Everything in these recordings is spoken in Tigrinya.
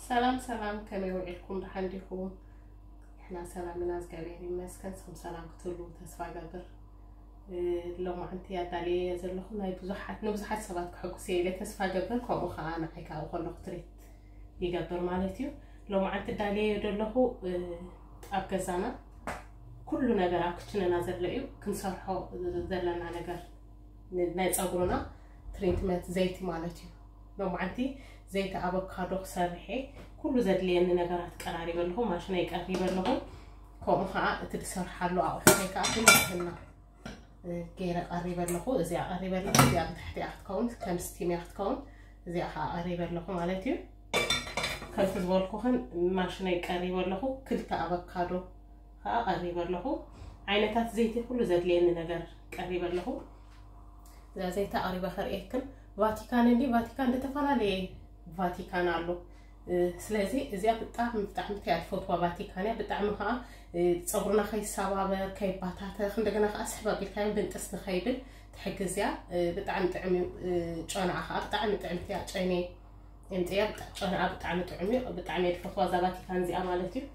ሰላም ሰላም፣ ከመይ ውዒልኩም? ደሓን ዲኹም? ንሕና ሰላም ኢና፣ እግዚኣብሔር ይመስገን። ንስኹም ሰላም ክትህሉ ተስፋ እገብር። እ፣ ሎማዓንቲ ኣዳልየ ዘለኹ ናይ ብዙሓት፣ ንብዙሓት ሰባት ክሕጉስ እየ ኢለ ተስፋ እገብር፣ ከምኡ ኸዓ ንዓይ ከዓ ከለኹ ትሪት ይገብር ማለት እዩ። ሎማዓንቲ ኣዳልየ ዘለኹ፣ እ፣ ኣብ ገዛና ኩሉ ነገር ኣብ ክችንና ዘሎ እዩ፣ ክንሰርሖ ዘለና ነገር ን-፣ ናይ ፀጉርና ትሪትመንት ዘይቲ ማለት እዩ። ሎማዓንቲ ዘይቲ ኣቮካዶ ክሰርሕ እየ። ኩሉ ዘድልየኒ ነገራት ቀራሪበ ኣለኹ፣ ማሽነይ ቀሪበ ኣለኹ። ከምኡ ከዓ እቲ ዝሰርሓሉ ኣቑሑተይ ከዓ ብንፅህና፣ እ፣ ገይረ ቀሪበ ኣለኹ። እዚኣ ቀሪበ ኣለኹ። እዚኣ ብታሕቲ እያ ክትከውን፣ ከም ስቲም እያ ክትከውን። እዚኣ ከዓ ቀሪበ ኣለኹ ማለት እዩ። ከምቲ ዝበልኩኽን ማሽነይ ቀሪበ ኣለኹ። ክልተ ኣቮካዶ ከዓ ቀሪበ ኣለኹ። ዓይነታት ዘይቲ ኩሉ ዘድልየኒ ነገር ቀሪበ ኣለኹ። እዛ ዘይቲ ኣቕሪበ ከርእየክን። ቫቲካን እንዲ ቫቲካን ዝተፈላለየ ቫቲካን ኣሎ። እ፣ ስለዚ እዚኣ ብጣዕሚ፣ ብጣዕሚ እያ ዝፈትዋ ቫቲካን እያ። ብጣዕሚ ከዓ፣ እ፣ ፀጉርና ከይሰባበር፣ ከይባታተኽ፣ እንደገና ከዓ ስሕብ ኣቢልካዮ ብንጥስ ንኸይብል ትሕግዝ እያ። እ፣ ብጣዕሚ ጥዕም እዩ። እ፣ ጨናኣ ከዓ ብጣዕሚ ጥዕምቲ እያ። ጨኔ የምፅያ ብጣ-፣ ጨናኣ ብጣዕሚ ጥዑም እዩ። ብጣዕሚ እየ ዝፈትዋ እዛ ቫቲካን እዚኣ ማለት እዩ።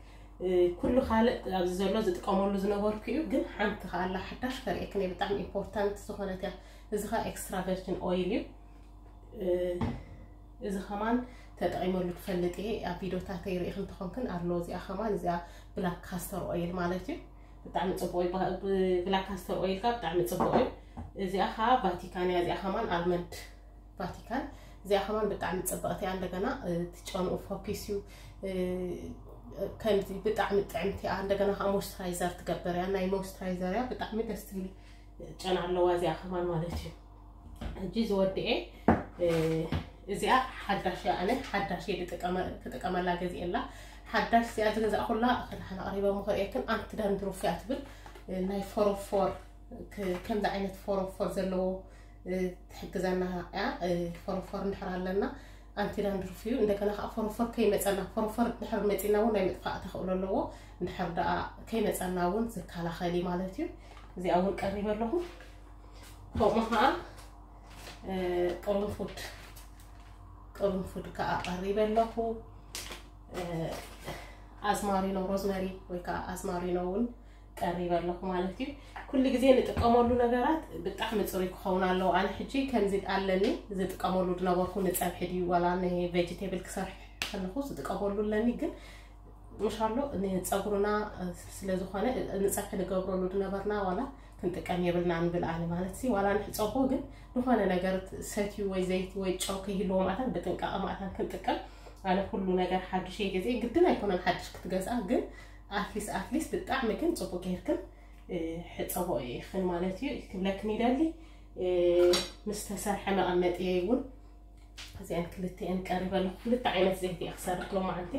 እ፣ ኩሉ ካልእ ኣብዚ ዘሎ ዝጥቀመሉ ዝነበርኩ እዩ፣ ግን ሓንቲ ከዓ ኣላ ሓዳሽ ከርእየክን እየ። ብጣዕሚ ኢምፖርታንት ዝኾነት እያ። እዚ ከዓ ኤክስትራ ቨርጂን ኦይል እዩ። እ፣ እዚ ከማን ተጠቒመሉ ትፈልጥ እየ። ኣብ ቪዲዮታተይ ርኢኽን እንተኾንክን ኣሎ። እዚኣ ከማን፣ እዚኣ ብላክ ካስተር ኦይል ማለት እዩ። ብጣዕሚ ጽቡቕ እዩ። ባ-፣ ብ-፣ ብላክ ካስተር ኦይል ከዓ ብጣዕሚ ጽቡቕ እዩ። እዚኣ ከዓ ቫቲካን እያ። እዚኣ ከማን ኣልመንድ ቫቲካን። እዚኣ ከማን ብጣዕሚ ጽብቕቲ እያ። እንደገና፣ እ፣ እቲ ጨንኡ ፎኪስ እዩ። እ፣ ከምዚ ብጣዕሚ ጥዕምቲ እያ። እንደገና ከዓ ሞይስቸራይዘር ትገብር እያ። ናይ ሞይስቸራይዘር እያ። ብጣዕሚ ደስ ትብል ጨና ኣለዋ እዚኣ ከማን ማለት እዩ። ሕጂ ዝወድኤ፣ እ፣ እዚኣ ሓዳሽ እያ። ኣነ ሓዳሽ እየ ዝጥቀመ-፣ ክጥቀመላ ገዚኤላ። ሓዳሽ እዚኣ ዝገዛእኩላ፣ ከዳሕና ቀሪበ እሞ ከርእየክን፣ ኣንቲ ዳንድሩፍ እያ ትብል። እ፣ ናይ ፎሮፎር፣ ክ-፣ ከምዚ ዓይነት ፎሮፎር ዘለዎ፣ እ፣ ትሕግዘና እያ። እ፣ ፎሮፎር እንድሕር ኣለና፣ ኣንቲ ዳንድሩፍ እዩ። እንደገና ከዓ ፎሮፎር ከይመፀና፣ ፎሮፎር እንድሕር መፂና እውን ናይ ምጥፋእ ተኽእሎ ኣለዎ። እንድሕር ደኣ ከይመፀና እውን ዝከላኸል እዩ ማለት እዩ። እዚኣ እውን ቀሪበ ኣለኹ። ከምኡ ከዓ፣ እ፣ ቅርንፉድ፣ ቅርንፉድ ከዓ ቀሪበ ኣለኹ። እ፣ ኣዝማሪኖ፣ ሮዝመሪ ወይ ከዓ ኣዝማሪኖ እውን ቀሪበ ኣለኹ ማለት እዩ። ኩሉ ግዜ ንጥቀመሉ ነገራት ብጣዕሚ ፅሩይ ክኸውን ኣለዎ። ኣነ ሕጂ ከምዚ ኣለኒ ዝጥቀመሉ ዝነበርኩ፣ ንፀብሒ ድዩ ዋላ ንቬጅቴብል ክሰርሕ ከለኹ ዝጥቀመሉ ኣለኒ፣ ግን ምሻሎ ንፀጉርና ስለ ዝኾነ፣ ንፀብሒ ንገብረሉ ዝነበርና ዋላ ክንጥቀም የብልና ንብል። ኣነ ማለት ሲ ዋላ ንሕፀቦ፣ ግን ዝኾነ ነገር ሰትዩ ወይ ዘይቲ ወይ ጨው ከይህልዎ ማእታን ብጥንቃቐ ማእታን ክንጥቀም። ኣነ ኩሉ ነገር ሓዱሽ እየ ገዚኤ፣ ግድን ኣይኮነን ሓዱሽ ክትገዝኣ፣ ግን ኣትሊስት፣ ኣትሊስት ብጣዕሚ ግን ፅቡቅ ጌርክን፣ እ፣ ሕፀቦ ኢኽን ማለት እዩ ክብለክን ይደሊ። እ፣ ምስ ተሰርሐ መቐመጢ እውን እዚአን ክልቲአን ቀሪበ ኣለኹ። ክልተ ዓይነት ዘይቲ እየ ክሰርሕ ሎማዓንቲ።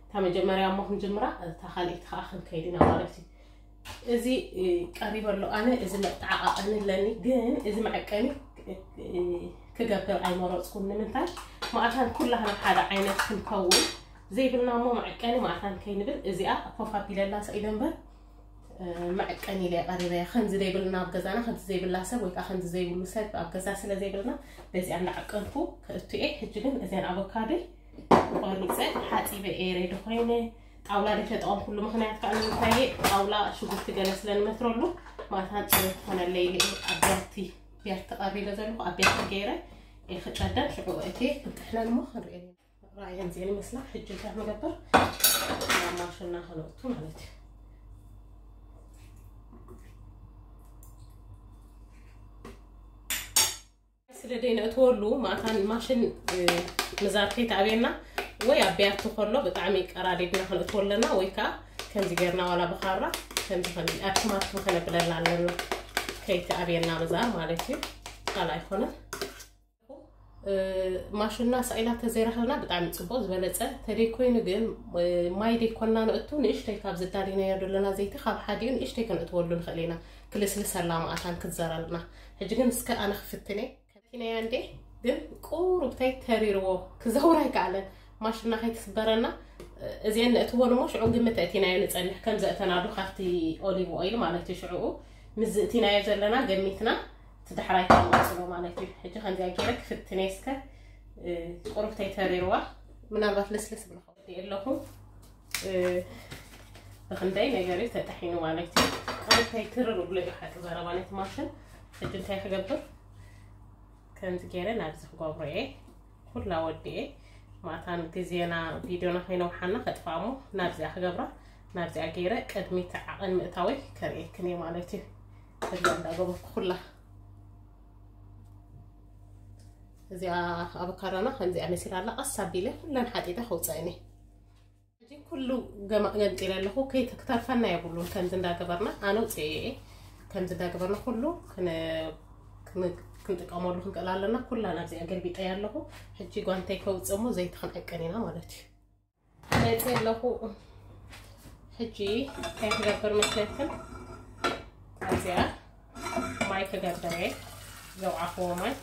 እታ መጀመርያ እሞ ክንጅምራ፣ እታ ካልኣይቲ ከዓ ክንከይድ ኢና ማለት እዩ። እዚ፣ እ፣ ቀሪበ ኣሎ። ኣነ እዚ መጠዓቓቐኒ ኣለኒ፣ ግን እዚ መዐቀኒ፣ እ፣ ክገብር ኣይመረፅኩን። ንምንታይ? ማእታን ኩላህና ሓደ ዓይነት ክንከውን ዘይብልና እሞ መዐቀኒ ማእታን ከይንብል እዚኣ ኮፍ ኣቢለላ ሰኢለ እምበር፣ እ፣ መዐቀኒ ኢለ ቀሪበያ። ከምዚ ዘይብልና ኣብ ገዛና፣ ከምዚ ዘይብላ ሰብ ወይ ከዓ ከምዚ ዘይብሉ ሰብ ኣብ ገዛ ስለ ዘይብልና በዚኣ እንዳዓቀንኩ ከእቱ እየ። ሕጂ ግን እዚኣን ኣቮካዶይ ቆሪፀ ሓፂበ እየ ሬዲ ኮይነ። ጣውላ ዘይተጠቐምኩሉ ምኽንያት ከዓ ንምንታይ እየ? ጣውላ ሽጉርቲ ገለ ስለ ንመትረሉ ማእታን ፅሬት ትኾነለይ ኢለ እየ ኣብ ቢያቲ፣ ቢያቲ ቀሪበ ዘለኹ ኣብ ቢያቲ ገይረ እየ ክጨደን። ሽዑ እትየ ክንጥሕነን እሞ ክንሪኤን ኢና። ራእየን እዚአን ይመስላ። ሕጂ እንታይ ንገብር? ናብ ማሽንና ከነእቱ ማለት እዩ። ስለ ደይ ነእትወሉ ማእታን ማሽን፣ እ፣ ምዛር ከይተኣብየና ወይ ኣብ ቢያቲ ከሎ ብጣዕሚ ቀራሪብና ከነእትዎ ኣለና፣ ወይ ከዓ ከምዚ ጌርና ዋላ ብኻራ ከምዚ ከም ኣብ ቲማቲም ከነብለላ ኣለና፣ ከይተኣብየና ምዛር ማለት እዩ። ካልእ ኣይኮነን። እ፣ ማሽንና ሳኢላ ተዘይረኸብና ብጣዕሚ ጽቡቕ ዝበለጸ። ተደይ ኮይኑ ግን፣ እ፣ ማይ ደይኮንና ነእቱ፣ ንእሽተይ ካብ ዝዳሊናዮ ዘለና ዘይቲ ካብ ሓዲኡ ንእሽተይ ከነእትወሉ ንኽእል ኢና። ክልስልሰላ ማእታን ክትዘረልና። ሕጂ ግን እስከ ኣነ ክፍትነ። ከቲናያ እንዴ፣ ግን ቁሩብታይ ተሪርዎ ክዘውር ኣይከኣለን። ማሽንና ከይትስበረና፣ እ፣ እዚአን ነእትወን እሞ ሽዑ ግምት ኣእቲናዮ ንጸንሕ። ከም ዘእተናሉ ካብቲ ኦሊቭ ኦይል ማለት እዩ። ሽዑ ምስ ዝእቲናዮ ዘለና ገሚትና እቲ ዳሕራይ ክንወስዶ ማለት እዩ። ሕጂ ከምዚኣ ገይረ ክፍትነ እስከ፣ እ፣ ቁሩብ ተይተሪርዋ፣ ምናልባት ልስልስ ብለኹ። ኣለኹ። እ፣ ብኽንደይ ነገር እዩ ተጠሒኑ ማለት እዩ። እንታይ ክርር ብሎ እዩ ሓቂ ዘረባ ናይ ትማሽን። ሕጂ እንታይ ክገብር? ከምዚ ገይረ ናብዚ ክገብሮ እየ። ኩላ ወዲኤ ማታን ግዜና ቪድዮና ከይነውሓና ከጥፋሞ ናብዚኣ ክገብራ። ናብዚኣ ገይረ ቅድሚት ዓቐን ምእታወይ ከርእየክን እየ ማለት እዩ። እዚኣ እንዳገበርኩ ኩላ እዚኣ ኣቮካዶና ከምዚኣ መሲላ ኣላ። ቀስ ኣቢለ ኩለን ሓጢጠ ከውፀእኒ። ሕጂ ኩሉ ገማ-፣ ገንጢለ ኣለኹ። ከይተ-፣ ክተርፈና የብሉን። ከምዚ እንዳገበርና ኣነ ውፅኤ እየ። ከምዚ እንዳገበርና ኩሉ ክን-፣ ክን-፣ ክንጥቀመሉ ክንክእል ኣለና። ኩላ ናብዚኣ ገልቢጠያ ኣለኹ። ሕጂ ጓንተይ ከውፅእ እሞ ዘይቲ ክንዕቅን ኢና ማለት እዩ። መፂ ኣለኹ። ሕጂ እንታይ ክገብር መስለክን? ኣብዚኣ ማይ ክገብር እየ። ዘውዓኽዎ ማይ።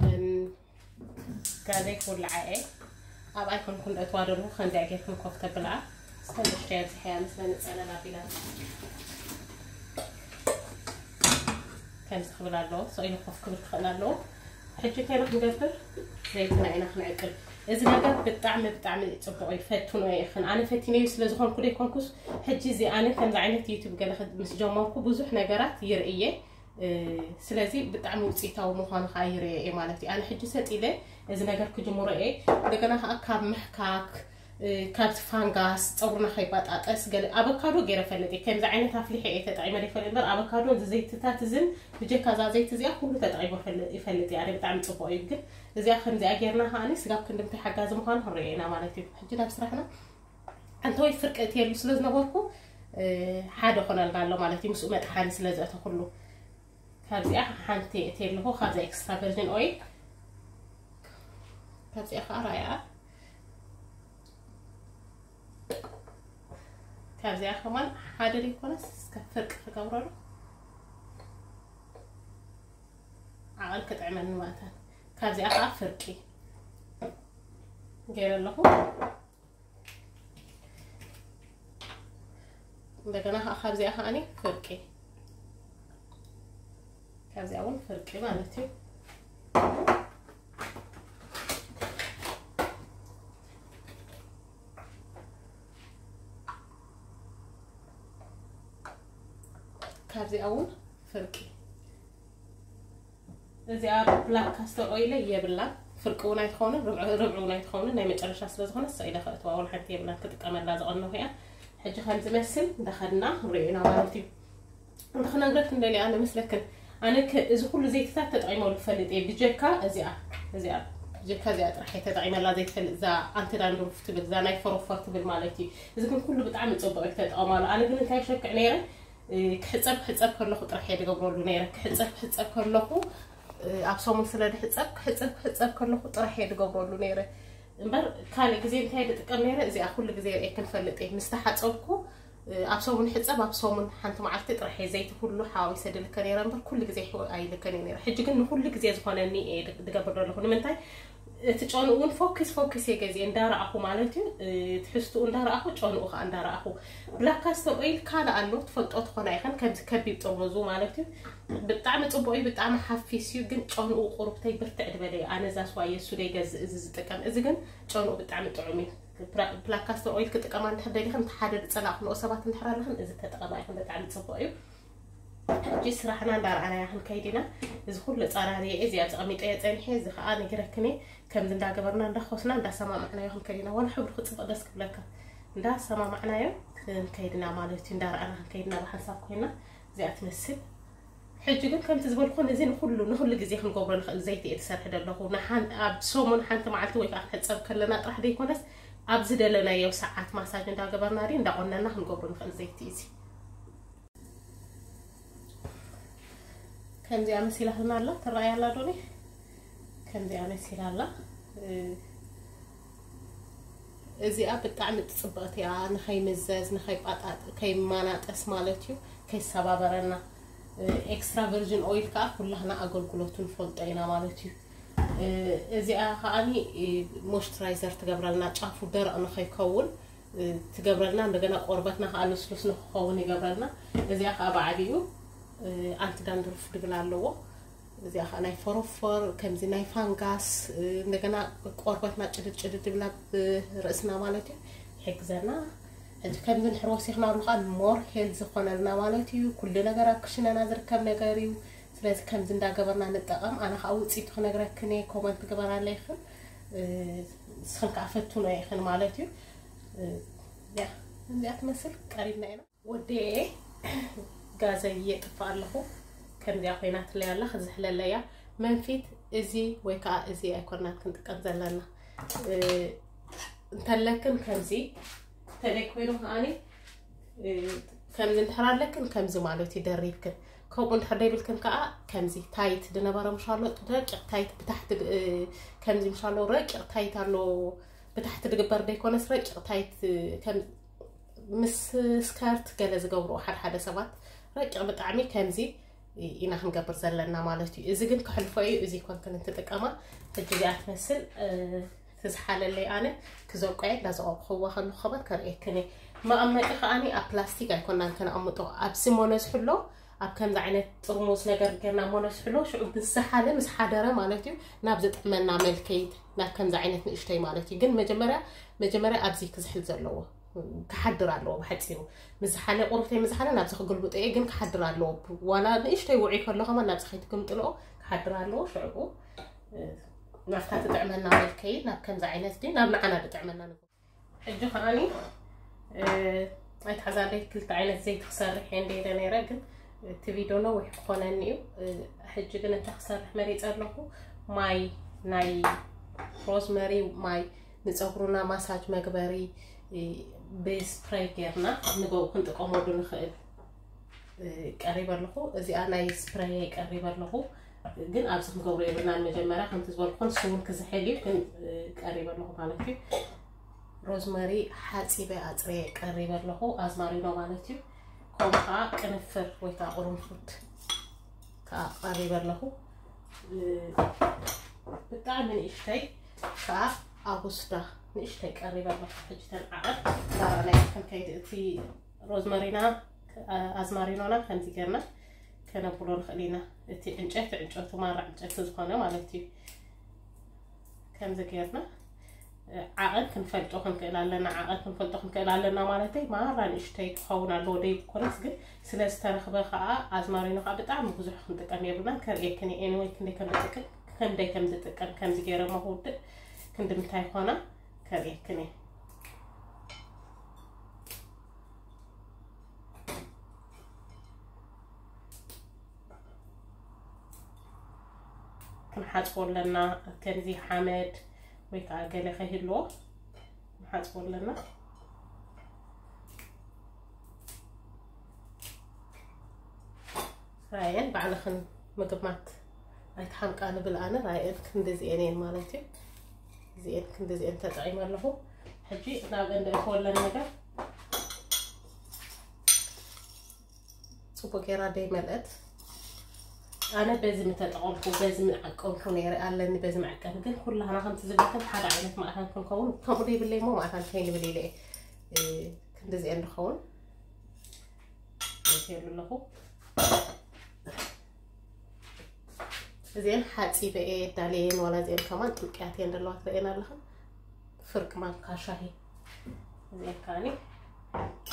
እም፣ ጋዘይ ክውልዓ እየ። ኣብ ኣይኮንኩን እትዋ ደለኹ፣ ከምዚኣ ጌርኩም ኮፍ ተብልዓ። እስከ ንእሽተይ ኣብዚሐያ ምስ መነፀለል ኣቢላ። ከምዚ ክብል ኣለዎ። ስቕ ኢሉ ኮፍ ክብል ክኽእል ኣለዎ። ሕጂ እንታይ ኢና ክንገብር? ዘይትና ኢና ክንዕቅል። እዚ ነገር ብጣዕሚ፣ ብጣዕሚ ጽቡቕ እዩ። ፈትኖ ኢኽን። ኣነ ፈቲነዩ ስለ ዝኾንኩ ደይኮንኩስ፣ ሕጂ እዚ ኣነ ከምዚ ዓይነት ዩቱብ ገለ ክድ-፣ ምስ ጀመርኩ ብዙሕ ነገራት ይርእየ። እ፣ ስለዚ ብጣዕሚ ውጽኢታዊ ምዃኑ ኸኣ ይርእየ እየ ማለት እዩ። ኣነ ሕጂ ሰጥ ኢለ እዚ ነገር ክጅምሮ እየ። እንደገና ኸኣ ካብ ምሕካክ፣ እ፣ ካብቲ ፋንጋስ ጸጉርና ከይባጣጠስ ገለ ኣቮካዶ ገይረ ፈልጥ እየ። ከምዚ ዓይነት ኣፍሊሐ እየ ተጠቒመ ዘይፈልጥ እምበር፣ ኣቮካዶ እዚ ዘይትታት እዝን ብጀካ እዛ ዘይቲ እዚኣ ኩሉ ተጠቒመ ፈል-፣ ይፈልጥ እየ። ኣነ ብጣዕሚ ጽቡቕ እዩ። ግን እዚኣ ከምዚኣ ጌርና ከኣኒ ስጋብ ክንዲ ምንታይ ሓጋዚ ምዃኑ ክንርእዮ ኢና ማለት እዩ። ሕጂ ናብ ስራሕና። ኣንተ ወይ ፍርቂ እትየሉ ስለ ዝነበርኩ፣ እ፣ ሓደ ኾነልና ኣሎ ማለት እዩ። ምስኡ መጥሓኒ ስለ ዘእተኹሉ። ካብዚኣ ሓንቲ እትየ ኣለኹ፣ ካብዛ ኤክስትራ ቨርጂን ኦይል። ካብዚኣ ኸዓ ራያ። ካብዚኣ ከማን ሓደ ዘይኮነስ እስከ ፍርቂ ክገብረሉ። ዓቐል ክጥዕመኒ ማለት እዩ። ካብዚኣ ኸዓ ፍርቂ ገይረ ኣለኹ። እንደገና ኸዓ ካብዚኣ ኸዓኒ ፍርቂ። ካብዚኣ እውን ፍርቂ ማለት እዩ። ካብዚኣ እውን ፍርቂ። እዚኣ ብላክ ካስተር ኦይል የብላን። ፍርቂ እውን ኣይትኸውን፣ ርብዒ፣ ርብዒ እውን ኣይትኸውን። ናይ መጨረሻ ስለ ዝኾነ፣ እሳ ኢለ ከእትዋ እውን ሓንቲ የብላን። ክጥቀመላ ዝቐነኹ እያ። ሕጂ ከም ዝመስል እንዳኸድና ንሪኦ ኢና ማለት እዩ። እንተ ክነግረክን ደልየ ኣነ መስለክን፣ ኣነ ከ-፣ እዚ ኩሉ ዘይትታት ተጠቒመሉ ፈልጥ እየ። ብጀካ እዚኣ፣ እዚኣ፣ ብጀካ እዚኣ ጥራሕ እየ ተጠቒመላ ዘይትፈልጥ፣ እዛ ኣንቲ ዳንድሩፍ ትብል፣ እዛ ናይ ፎሮፎር ትብል ማለት እዩ። እዚ ግን ኩሉ ብጣዕሚ ጽቡቕ እዩ፣ ተጠቐማሉ። ኣነ ግን እንታይ ይሸክዕ ነይረ? እ፣ ክሕጸብ፣ ክሕጸብ ከለኹ ጥራሕ እየ ዝገብረሉ ነይረ። ክሕጸብ፣ ክሕጸብ ከለኹ፣ እ፣ ኣብ ሰሙን ስለ ዝሕጸብ፣ ክሕጸብ፣ ክሕጸብ ከለኹ ጥራሕ እየ ዝገብረሉ ነይረ። እምበር ካልእ ግዜ እንታይ ዝጥቀም ነይረ? እዚኣ ኩሉ ግዜ ርእየ ክንፈልጥ እየ። ምስ ተሓጸብኩ፣ እ፣ ኣብ ሰሙን ሕጸብ፣ ኣብ ሰሙን ሓንቲ መዓልቲ ጥራሕ እየ ዘይቲ ኩሉ ሓዋዊሰ ድልከ ነይረ እምበር ኩሉ ግዜ ይሕወ-፣ ኣይልከን እየ ነይረ። ሕጂ ግን ንኩሉ ግዜ ዝኾነኒ እየ ድ-፣ ድገብር ዘለኹ። ንምንታይ? እቲ ጨንኡ እውን ፎኪስ ፎኪስ እየ ገዚኤ እንዳረኣኹ ማለት እዩ። እ፣ ትሕዝትኡ እንዳረኣኹ፣ ጨንኡ ከዓ እንዳረኣኹ። ብላክ ካስተር ኦይል ካልእ ኣሎ፣ ትፈልጦ ትኾና ኢኸን፣ ከምዚ ከቢብ ጥርሙዙ ማለት እዩ። ብጣዕሚ ጽቡቕ እዩ፣ ብጣዕሚ ሓፊስ እዩ፣ ግን ጨንኡ ቁሩብተይ ብርትዕ ዝበለ እዩ። ኣነ እዛ ስዋ እየ እሱ ደይገዝእ፣ እዚ ዝጥቀም። እዚ ግን ጨንኡ ብጣዕሚ ጥዑም እዩ። ብራ-፣ ብላክ ካስተር ኦይል ክጥቀማ እንድሕር ደሊኽን፣ እንተ ሓደ ዝጸላእክንኦ ሰባት እንድሕር ኣለኽን፣ እዚ ተጠቐማ ኢኽን፣ ብጣዕሚ ጽቡቕ እዩ። ሕጂ ስራሕና እንዳረኣናዮ ክንከይድ ኢና። እዚ ኩሉ ጸራሪየ እዚኣ ኣቐሚጠዮ ጸኒሐ፣ እዚ ኸኣ ነጊረክን እየ። ከምዚ እንዳገበርና፣ እንዳኾስና፣ እንዳሰማማዕናዮ ክንከይድ ኢና። ዋላ ሕብሩ ክጽብቕ ደስ ክብለካ። እንዳሰማማዕናዮ ክንከይድ ኢና ማለት እዩ። እንዳረኣና ክንከይድ ኢና፣ ብሓንሳብ ኮይና እዚኣ ትመስል። ሕጂ ግን ከምቲ ዝበልኩ፣ ነዚ ንኹሉ፣ ንኹሉ ግዜ ክንገብሮ ንኽእል ዘይቲ እየ ትሰርሒ ዘለኹ። ንሓን-፣ ኣብ ሰሙን ሓንቲ መዓልቲ ወይ ከዓ ክንሕጸብ ከለና ጥራሕ ዘይኮነስ፣ ኣብ ዝደለናዮ ሰዓት ማሳጅ እንዳገበርና ድዩ እንዳቆነና ክንገብሮ ንኽእል ዘይቲ እዩ እዚ። ከምዚኣ መሲላትና ኣላ፣ ትረኣይ ኣላ ዶኒ? ከምዚኣ መሲላ ኣላ። እ፣ እዚኣ ብጣዕሚ ጽብቕቲ እያ፣ ንኸይምዘዝ፣ ንኸይጳጣጥ-፣ ከይመናጠስ ማለት እዩ፣ ከይሰባበረና። እ፣ ኤክስትራ ቨርጂን ኦይል ከኣ ኩላህና ኣገልግሎቱ ንፈልጦ ኢና ማለት እዩ። እ፣ እዚኣ ከኣኒ፣ እ፣ ሞይስቸራይዘር ትገብረልና፣ ጫፉ ደረቕ ንኸይከውን፣ እ፣ ትገብረልና። እንደገና ቆርበትና ከኣ ልስሉስ ንክኸውን ይገብረልና። እዚኣ ከኣ ብዓቢኡ፣ እ፣ ኣንቲ ዳንድሩፍ ድብል ኣለዎ። እዚኣ ከዓ ናይ ፎሮፎር ከምዚ ናይ ፋንጋስ፣ እንደገና ቆርበትና ጭድድ ጭድድ ብላ ብርእስና ማለት እዩ ይሕግዘና። ሕጂ ከምዚ ንሕር ወሲኽና ከዓ ሞር ሄልዚ ዝኾነልና ማለት እዩ። ኩሉ ነገር ኣብ ክሽነና ዝርከብ ነገር እዩ። ስለዚ ከምዚ እንዳገበርና ንጠቐም። ኣነ ከዓ ውፅኢቱ ክነግረክን እየ፣ ኮመንት ግበራለይኽን። ንስኽን ከዓ ፈትኖ ኢኽን ማለት እዩ። እዚኣ ትመስል ቀሪብና ኢና። ወዴ ጋዘይ የጥፋ ኣለኹ። ከምዚኣ ኮይናትለይ ኣላ፣ ክዝሕለለያ። መንፊት እዚ ወይ ከዓ እዚ ኣይኮናን ክንጥቀም ዘለና። እንተለክን ከምዚ፣ እንተለይ ኮይኑ ከዓኒ ከምዚ እንድሕር ኣለክን ከምዚ ማለት እዩ ደሪብክን። ከምኡ እንድሕር ደይብልክን ከዓ ከምዚ ታይት ድነበረ ምሻሎ፣ ረቂቕ ታይት ብታሕቲ ድ-፣ ከምዚ ምሻሎ ረቂቕ ታይት ኣሎ፣ ብታሕቲ ድግበር ደይኮነስ ረቂቕ ታይት ከም ምስ ስከርት ገለ ዝገብርኦ ሓደ ሓደ ሰባት ረቂቕ ብጣዕሚ ከምዚ ኢና ክንገብር ዘለና ማለት እዩ። እዚ ግን ክሕልፎ እዩ። እዚ ኮንክን እንትጥቀማ ሕጂ እዚኣ ትመስል ትዝሓለለይ። ኣነ ክዘቆየ እንዳዘቆቅኽዋ ከለኹ ከማን ከርእየክን እየ። መቐመጢ ከዓኒ ኣብ ፕላስቲክ ኣይኮናን ከነቐምጦ፣ ኣብዚ ሞነዝሕሎ ኣብ ከምዚ ዓይነት ጥርሙዝ ነገር ጌርና ሞነዝሕሎ ሽዑ ምስ ዝሓለ ምስ ሓደረ ማለት እዩ ናብ ዝጥዕመና መልከይት ናብ ከምዚ ዓይነት ንእሽተይ ማለት እዩ። ግን መጀመርያ መጀመርያ ኣብዚ ክዝሕል ዘለዎ ክሓድር ኣለዎ። ብሓፂሩ ምስ ዝሓለ ቁሩብተይ ምስ ዝሓለ ናብዚ ክግልብጦ እየ፣ ግን ክሓድር ኣለዎ። ዋላ ንእሽተይ ውዑይ ከሎ ከማን ናብዚ ከይትግምጥልኦ ክሓድር ኣለዎ። ሽዑ ናብታ ትጥዕመና መልከይት ናብ ከምዚ ዓይነት ድዩ ናብ ንዓና ዝጥዕመና ንግበር። ሕጂ ከዓኒ ኣይትሓዛለይ ክልተ ዓይነት ዘይቲ ክሰርሕ እየ እንደ ኢለ ነይረ፣ ግን እቲ ቪድዮ ነዊሕ ክኾነኒ እዩ። ሕጂ ግን እንታይ ክሰርሕ መሪፀ ኣለኹ? ማይ ናይ ሮዝመሪ ማይ ንፀጉሩና ማሳጅ መግበሪ ብስፕሬይ ጌርና ንገው ክንጥቀመሉ ንኽእል ቀሪበ ኣለኹ። እዚኣ ናይ ስፕሬይ ቀሪበ ኣለኹ፣ ግን ኣብዚ ክንገብሮ የብልናን። መጀመርያ ከምቲ ዝበልኩን ስውን ክዝሕል እዩ፣ ግን ቀሪበ ኣለኹ ማለት እዩ። ሮዝመሪ ሓፂበ ኣፅርየ ቀሪበ ኣለኹ፣ ኣዝማሪኖ ማለት እዩ። ከምኡ ከዓ ቅንፍር ወይ ከዓ ቅርንፉድ ከዓ ቀሪበ ኣለኹ። ብጣዕሚ ንእሽተይ ከዓ ኣጉስዳ ንእሽተይ ቀሪበ ኣለኹ። ሕጂ ተን ዓቐብ ተራናይ ከም ከይድ እቲ ሮዝመሪና ኣዝማሪኖና ከምዚ ጌርና ከነብሎ ንኽእል ኢና። እቲ ዕንጨይቲ ዕንጨቱ ማራ ዕንጨቲ ዝኾነ ማለት እዩ። ከምዚ ጌርና ዓቐን ክንፈልጦ ክንክእል ኣለና። ዓቐን ክንፈልጦ ክንክእል ኣለና ማለተይ ማራ ንእሽተይ ክኸውን ኣለዎ ደይኮነስ፣ ግን ስለ ዝተረኽበ ከዓ ኣዝማሪኖ ከዓ ብጣዕሚ ብዙሕ ክንጥቀም የብልናን። ከርእየክን እየ ኤኒወይ ክንደይ ከም ዝጥቀም፣ ክንደይ ከም ዝጥቀም ከምዚ ገይረ መክውድእ ክንዲ ምንታይ ኮና ከርእየክን እየ። ክንሓፅቦ ኣለና። ከምዚ ሓመድ ወይ ከዓ ገለ ከይህልዎ ክንሓፅቦ ኣለና። ራየን ባዕልኽን ምግማት ኣይትሓምቃ ንብል ኣነ። ራየን ክንዲ እዚኤን እየን ማለት እዩ። እዚኤን ክንዲ እዚኤን ተጠቒመ ኣለኹ። ሕጂ ናብ እንደ እትወለን ነገር ፅቡቅ ጌራ ደይ መልአት። ኣነ በዚ ምተጠቐምኩ በዚ ምዓቀምኩ ነይረ ኣለኒ በዚ መዐቀኒ፣ ግን ኩላህና ከምቲ ዝብለክን ሓደ ዓይነት ማእታን ክንከውን ከምኡ ደይብለይ እሞ ማእታን ከይንብል ኢለ እየ። ክንዲ እዚአን ዝኸውን የሉ ኣለኹ። እዚአን ሓፂበ እየ ዳለየን፣ ዋላ እዚአን ከማን ጥልቅያት እየን ዘለዋ ትርእየን ኣለኽን። ፍርቂ ማንካ ሻሂ። እዚአን ከዓኒ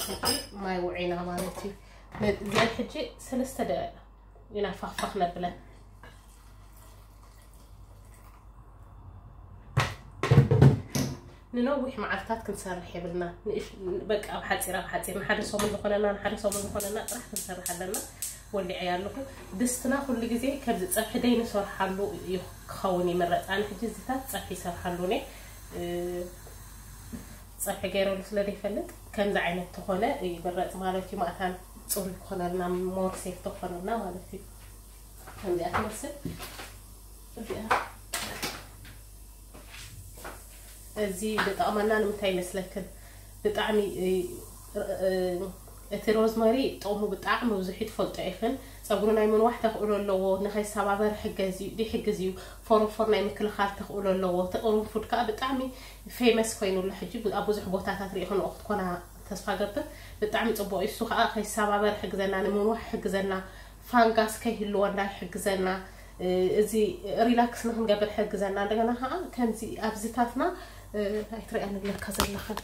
ሕጂ ማይ ውዒና ማለት እዩ። እዚአን ሕጂ ሰለስተ ደቂቕ ኢና ፋኽፋኽ ነብለን። ንነዊሕ መዓልታት ክንሰርሕ የብልና። ንእሽ-፣ በቃ ኣብ ሓፂር ኣብ ሓፂር ንሓደ ሰሙን ዝኾነና ንሓደ ሰሙን ዝኾነና ጥራሕ ክንሰርሕ ኣለና። ወሊዐ ኣለኹ። ድስትና ኩሉ ግዜ ከምዚ ፀብሒ ደይ ንሰርሓሉ እዩ ክኸውን ይምረፅ። ኣነ ሕጂ እዚታት ፀብሒ ይሰርሓሉ እኔ፣ እ፣ ፀብሒ ገይረሉ ስለ ዘይፈልጥ ከምዚ ዓይነት ተኾነ ይምረፅ ማለት እዩ። ማእታን ፅሩይ ክኾነልና ሞር ሴፍ ተኾነልና ማለት እዩ። ከምዚኣ ትመስል። እዚኣ፣ እዚ ዝጠቕመና ንምንታይ ይመስለክን? ብጣዕሚ፣ እ፣ እ፣ እቲ ሮዝመሪ ጥቕሙ ብጣዕሚ ብዙሕ እዩ፣ ትፈልጦ ኢኽን። ፀጉሪ ናይ ምንዋሕ ተኽእሎ ኣለዎ፣ ንኸይሰባበር ይሕግዝ እዩ፣ ይሕግዝ እዩ። ፎሮፎር ናይ ምክልኻል ተኽእሎ ኣለዎ። እቲ ቅርንፉድ ከዓ ብጣዕሚ ፌመስ ኮይኑ ኣሎ ሕጂ፣ ኣብ ብዙሕ ቦታታት ርኢኽንኦ ክትኮና ተስፋ ገብር። ብጣዕሚ ፅቡቕ እዩ። እሱ ከዓ ከይሰባበር ይሕግዘና፣ ንምንዋሕ ይሕግዘና፣ ፋንጋስ ከይህልወና ይሕግዘና። እዚ ሪላክስ ንክንገብር ሕግዘና። እንደገና ከዓ ከምዚ ኣብዚታትና ኣይትሪኣን ኣለካ ዘለኽን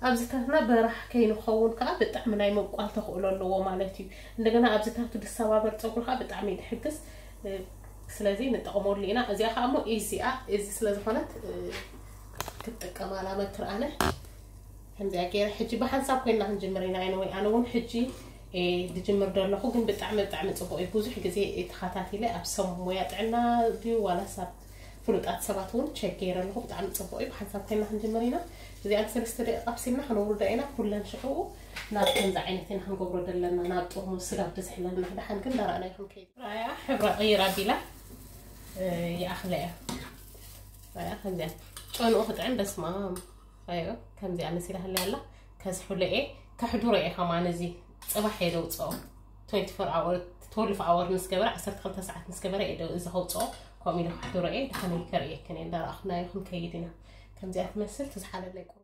ኣብዚታትና በራሕ ከይንኸውን ከዓ ብጣዕሚ ናይ ምብቋል ተኽእሎ ኣለዎ ማለት እዩ። እንደገና ኣብዚታቱ ድሰባበር ፀጉሪ ከዓ ብጣዕሚ እዩ ዝሕግዝ። ስለዚ ንጠቕመሉ ኢና። እዚኣ ከዓ እሞ ኢዚኣ እዚ ስለዝኾነት ክትጥቀማ ላመክር ኣነ። ከምዚኣ ገይረ ሕጂ ብሓንሳብ ኮይና ክንጅምር ኢና። ኣነ ወይ ኣነ እውን ሕጂ ድጅምር ደለኹ ግን ብጣዕሚ ብጣዕሚ ፅቡቅ እዩ። ብዙሕ ግዜ ተኸታቲለ ኣብ ሰብ ሞያ ጥዕና ድዩ ዋላ ሰብ ፍሉጣት ሰባት እውን ቸክ ገይረ ኣለኹ። ብጣዕሚ ፅቡቅ እዩ። ብሓንሳብ ኮይና ክንጅምር ኢና። እዚኣን ሰለስተ ደቂቃ ኣብሲልና ክነውርዳ ኢና። ኩለን ሽዑ ናብ ከምዚ ዓይነት ኢና ክንገብሮ ዘለና ናብ ጥርሙዝ ስጋብ ብዝሕለልና ክደሓን ግን ዳርኣና ይኹን ከይድ ራያ ሕብራ ቀይራ ቢላ ይኣኽለ እያ። ራያ ከምዚኣ ጨንኡ ክጥዕም በስማ ኣዮ ከምዚኣ መሲላ ህለ ኣላ። ከዝሕሎ እየ ከሕዱሮ እየ ከማን እዚ ፅባሕ እየ ደውፅኦ። ትወንቲ ፎር ኣወር ትወልፍ ኣወር ምስ ገበረ ዓሰርተ ክልተ ሰዓት ምስ ገበረ እየ እዚ ከውፅኦ። ከምኡ ኢሉ ከሕዱሮ እየ ድሓን ከርእየክን እየ እንዳረኣኹናዮ ክንከይድ ኢና። ከምዚኣ ትመስል ትዝሓለለይ ቁሩ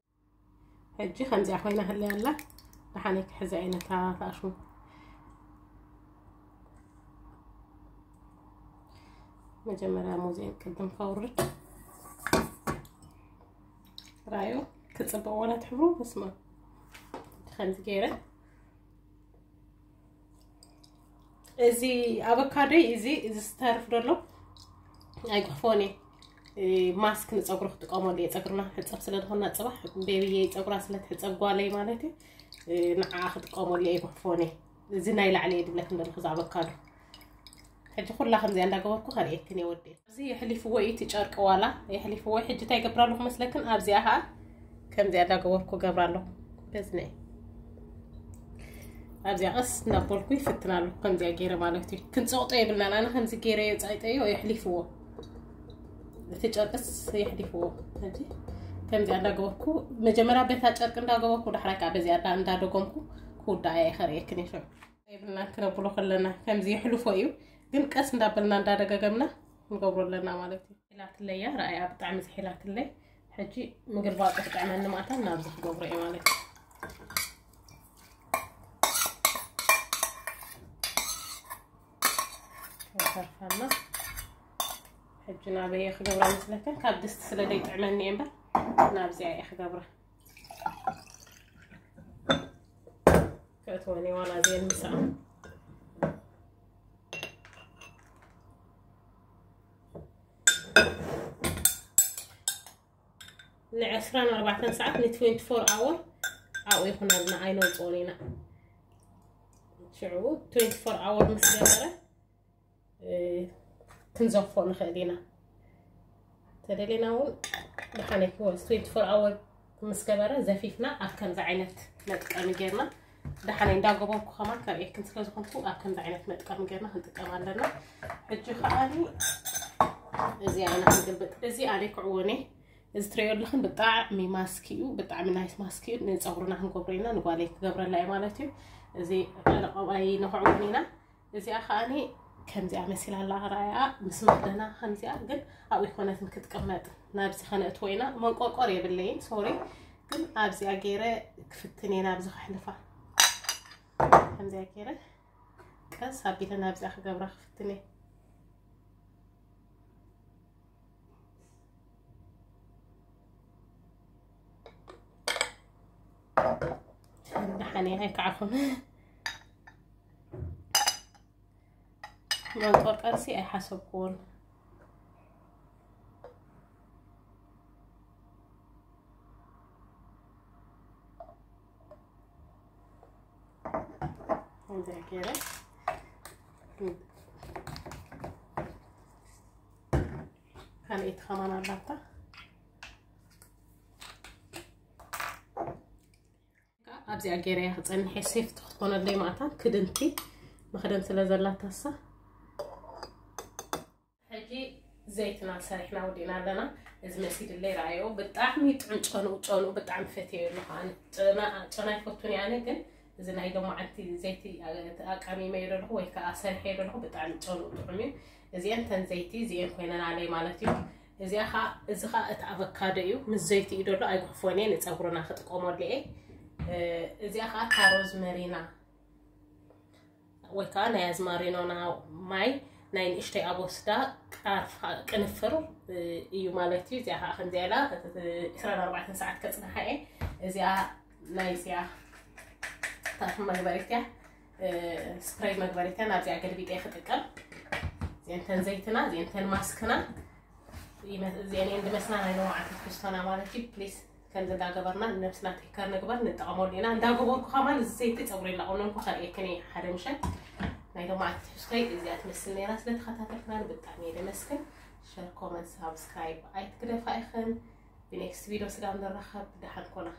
ሕጂ ከምዚኣ ኮይና ህለ ኣላ። ድሓን ክሕዘ እየ ነታ ታሽሙ መጀመርያ ሙዚየን ቅድም ከውርድ ራዮ ክፅብቅ ወላ ትሕብሩ በስማ ከምዚ ገይረ እዚ ኣበካዶይ እዚ እዚ ዝተርፍ ደሎ ኣይጉሕፎን እየ። ማስክ ንፀጉሪ ክጥቀመሉ እየ። ፀጉርና ክሕፀብ ስለ ዝኾና ፅባሕ ቤቢየይ ፀጉራ ስለ ትሕፀብ ጓለይ ማለት እዩ። ንዓ ክጥቀመሉ እየ ኣይጉሕፎን እየ። እዚ ናይ ላዕሊ እየ ድብለክን ደለኹ እዚ ኣበካዶ። ሕጂ ኩላ ከምዚኣ እንዳገበርኩ ከርእየክን እየ ወዲ። እዚ የሕሊፍዎ እዩ እቲ ጨርቂ ዋላ የሕሊፍዎ። ሕጂ እንታይ ገብራሉ ክመስለክን ኣብዚኣ ከዓ ከምዚኣ እንዳገበርኩ ገብራለሁ። በዝነ ኣብዚኣ ቀስ እናበልኩ ይፍትናሉ። ከምዚኣ ገይረ ማለት እዩ። ክንፀቕጦ የብልናን። ኣነ ከምዚ ገይረ የፃይጠዮ የሕሊፍዎ። እቲ ጨርቅስ የሕሊፍዎ። ሕጂ ከምዚኣ እንዳገበርኩ መጀመርያ በታ ጨርቂ እንዳገበርኩ ዳሕራይ ከዓ በዚኣ እንዳ- እንዳደገምኩ ክውዳኣ እየ ከርእየክን እየ። ሽዑ የብልናን ክነብሎ ከለና ከምዚ የሕልፎ እዩ። ግን ቀስ እንዳበልና እንዳደጋገምና ንገብሮ ኣለና ማለት እዩ። ሒላትለያ ረኣያ ብጣዕሚ ዝሒላትለይ። ሕጂ ምግልባጡ ክጥዕመኒ ማእታ ናብዚ ክገብሮ እየ ማለት እዩ። ተርፋና ሕጂ ናበየ ክገብራ መስለካ ካብ ድስቲ ስለ ዘይጥዕመኒ እየ እምበር ናብዚኣ እየ ክገብራ። ከእትወኒ ዋላ ዜን ምሳኣ ንዕስራን ኣርባዕተን ሰዓት ን24 ኣወር ኣብኡ ይኹነልና ኣይነውፅኦን ኢና። ሽዑ ትዌንቲ ፎር ኣወር ምስ ገበረ ክንዘፎ ንኽእል ኢና። ተደሌና እውን ደሓነ ክወስ ትዌንቲ ፎር ኣወር ምስ ገበረ ዘፊፍና ኣብ ከምዚ ዓይነት መጥቀሚ ጌርና ደሓነይ እንዳገበርኩ ከማን ካብ ኤክን ስለ ዝኾንኩ ኣብ ከምዚ ዓይነት መጥቀሚ ጌርና ክንጥቀም ኣለና። ሕጂ ከዓኒ እዚ ኣነ ክንግልብጥ እዚ ኣነ ክዕወኔ እዚ ትሪኦ ኣለኽን ብጣዕሚ ማስክ እዩ፣ ብጣዕሚ ናይስ ማስክ እዩ። ንፀጉርና ክንገብሮ ኢና፣ ንጓለይ ክገብረላ እዩ ማለት እዩ። እዚ ቀለቆባይ ንክዕወን ኢና። እዚኣ ከዓኒ ከምዚኣ መሲላ ኣላ ራያ ምስ መኽደና ከምዚኣ ግን ኣብኡ ይኮነትን ክትቅመጥ ናብዚ ከነእትዎ ኢና። መንቆርቆር የብለይን ሶሪ፣ ግን ኣብዚኣ ገይረ ክፍትን እየ ናብዚ ከሕልፋ። ከምዚኣ ገይረ ቀስ ኣቢለ ናብዚኣ ክገብራ ክፍትን እየ። ደሓን እየ ኣይከዓኹን። መንቆርቀርሲ ኣይሓሰብኩዎን። ከምዚኣ ገይረ ካልኣይቲ ከማን ኣላታ። ኣብዚኣ ገይረያ ክፀንሐ ሴፍቲ ክትኮነለይ ማእታን ክድንቲ መኽደን ስለ ዘላታ እሳ። ሕጂ ዘይትና ሰሪሕና ወዲእና ኣለና። እዚ መሲድለይ ረኣዮ ብጣዕሚ ጥዑም ጨንኡ ጨንኡ ብጣዕሚ ፈትዮ ኣለኹ ኣነ። ጨና ጨና ይፈቱን እየ ኣነ ግን እዚ ናይ ሎማዓንቲ ዘይቲ ኣቃሚመዮ ዘለኹ ወይ ከዓ ሰሪሐዮ ዘለኹ ብጣዕሚ ጨንኡ ጥዑም እዩ። እዚአን ተን ዘይቲ እዚአን ኮይነን ኣለይ ማለት እዩ። እዚኣ ከዓ እዚ ከዓ እቲ ኣቨካዶ እዩ ምስ ዘይቲ እዩ ደሎ ኣይጉሕፎን እየ ንፀጉርና ክጥቀመሉ እየ። እዚኣ ከዓ እታ ሮዝመሪና ወይ ከዓ ናይ ኣዝማሪኖና ማይ ናይ ንእሽተይ ኣብ ወስዳ ቃርፋ ቅንፍር እዩ ማለት እዩ። እዚኣ ከዓ ከምዚኣ ኢላ ዕስራን ኣርባዕተን ሰዓት ከፅንሓ እየ። እዚኣ ናይ እዚኣ ታፍ መግበሪት እያ፣ ስፕሬይ መግበሪት እያ። ናብዚኣ ገልቢጠ ክጥቀም። እዚአንተን ዘይትና፣ እዚአንተን ማስክና፣ እዚአን እንድመስና ናይ ሎማዓት ትሕዝቶና ማለት እዩ። ፕሊስ ከምዚ እንዳገበርና ነብስና ቴከር ንግበር፣ ንጠቐመሉ ኢና። እንዳገበርኩ ከማን እዚ ዘይቲ ፀጉሪ እንዳቆነንኩ ከርእየክን እየ ሓደ ምሸት። ናይ ሎማዓት ትሕዝቶይ እዚኣ ትመስል ነይራ። ስለተኸታተልክና ብጣዕሚ እየ ደመስግን። ሸር፣ ኮመንት፣ ሳብስክራይብ ኣይትግደፋ ኢኽን። ብኔክስት ቪዲዮ ስጋብ ንራኸብ፣ ደሓን ኮና።